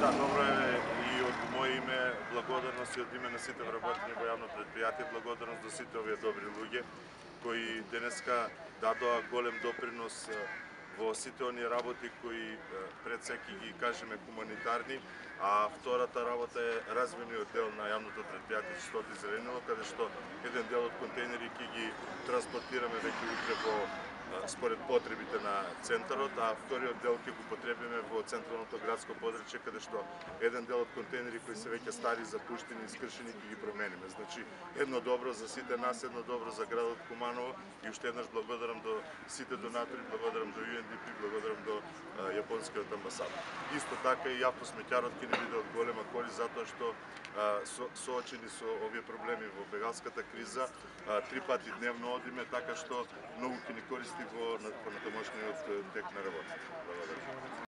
Да, добро е и од моје име благодарност и од име на сите вработени во јавно предпријатие, благодарност до сите овие добри луѓе кои денеска дадоа голем допринос во сите оние работи кои пред се ќе ги кажеме хуманитарни, а втората работа е развојниот дел на јавното предпријатие Чистота и зеленило, каде што еден дел од контејнери ќе ги транспортираме веќе утре во според потребите на центарот, а вториот дел ќе го потребиме во централното градско подрачје, каде што еден дел од контејнери кои се веќе стари, запуштени и искршени ќе ги промениме. Значи, едно добро за сите нас, едно добро за градот Куманово и уште еднаш благодарам до сите донатори, благодарам до UNDP, благодарам до јапонскиот амбасадор. Исто така и автосмеќарот ќе ни биде од голема корист затоа што соочени со овие проблеми во бегалската криза, 3 пати дневно одиме, така што многу ќе ни користи во понатамошниот тек на работата. Благодарам.